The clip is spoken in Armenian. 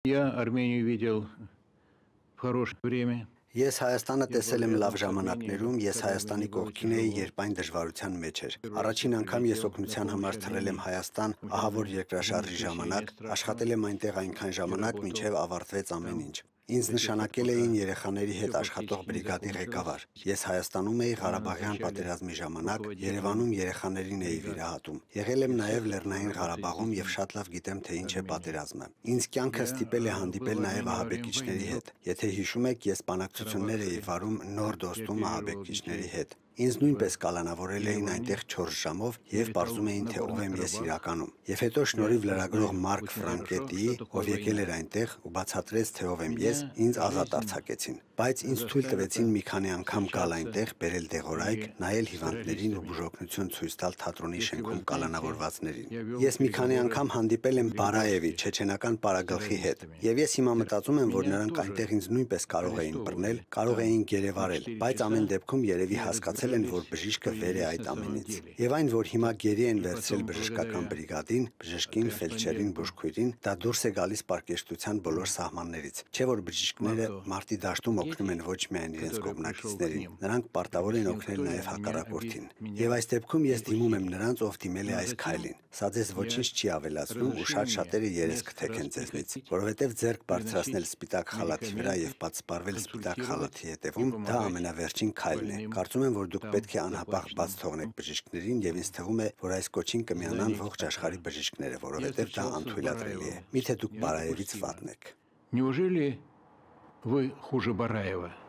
Я Армению видел в хорошее время. Ես Հայաստանը տեսել եմ լավ ժամանակներում, ես Հայաստանի կողքին էի, երբ այն դժվարության մեջ էր։ Առաջին անգամ ես օգնության համար թռել եմ Հայաստան, ահավոր երկրաշարժի ժամանակ, աշխատել եմ այնտեղ այնքան ժամանակ, մինչև ավարտվեց ամեն ինչ։ Ինձ նշանակել էին երեխաների հետ աշխատող բրիգադի ղեկավար։ Ես Հայաստանում էի Ղարաբաղյան պատերազմի ժամանակ, Երևանում երեխաներին էի վիրահատում։ Եղել եմ նաև Լեռնային Ղարաբաղում եւ շատ լավ գիտեմ, թե ինչ է պատերազմը։ Ինձ կյանքը ստիպել է հանդիպել նաև ահաբեկիչների հետ։ Եթե հիշում եք, ես բանակցություններ էի վարում Նոր Դոստում ահաբեկիչների հետ։ Ինձ նույնպես կալանավորել էին այնտեղ 4 ժամով եւ պարզում էին, թե ով եմ ես իրականում։ Եվ հետո շնորհիվ լրագրող Մարկ Ֆրանկետիի, ով եկել էր այնտեղ ու բացատրեց, թե ով եմ ես, ինձ ազատ արձակեցին։ Բայց ինձ թույլ տվեցին մի քանի անգամ գալ այնտեղ, բերել դեղորայք, նայել հիվանդներին ու բուժօգնություն ցույց տալ թատրոնի շենքում կալանավորվածներին։ Ես մի քանի անգամ հանդիպել եմ Բարաևի, չեչենական պարագլխի հետ։ Եվ ես հիմա մտածում եմ, որ նրանք այնտեղ ինձ նույնպես կարող էին բռնել, կարող էին գերեվարել, բայց ամեն դեպքում երևի հասկացել են, որ բժիշկը վեր է այդ ամենից։ Եվ այն, որ հիմա գերի են վերցրել բժշկական բրիգադին, բժշկին, ֆելդշերին, բուժքույրին, դա դուրս է գալիս պարկեշտության բոլոր սահմաններից։ Չէ՞ որ բժիշկները մարտի դաշտում օգնում են ոչ միայն իրենց կողմնակիցներին, նրանք պարտավոր են օգնել նաև հակառակորդին։ Եվ այս դեպքում ես դիմում եմ նրանց, ով դիմել է այս քայլին։ Սա ձեզ ոչինչ չի ավելացնում ու շատ շատերը երես կթեքեն ձեզնից, որովհետև ձեռք բարձրացնել սպիտակ խալաթի վրա եւ պատսպարվել սպիտակ խալաթի հետևում, դա ամենավերջին քայլն է։ Կարծում եմ, որ դուք պետք է անհապաղ բաց թողնեք բժիշկներին եւ ինձ թվում է, որ այս կոչին կմիանան ողջ աշխարհի բժիշկները, որովհետեւ դա անթույլատրելի է։ Միթե դուք Բարաևից վատն եք։ Неужели вы хуже Бараева?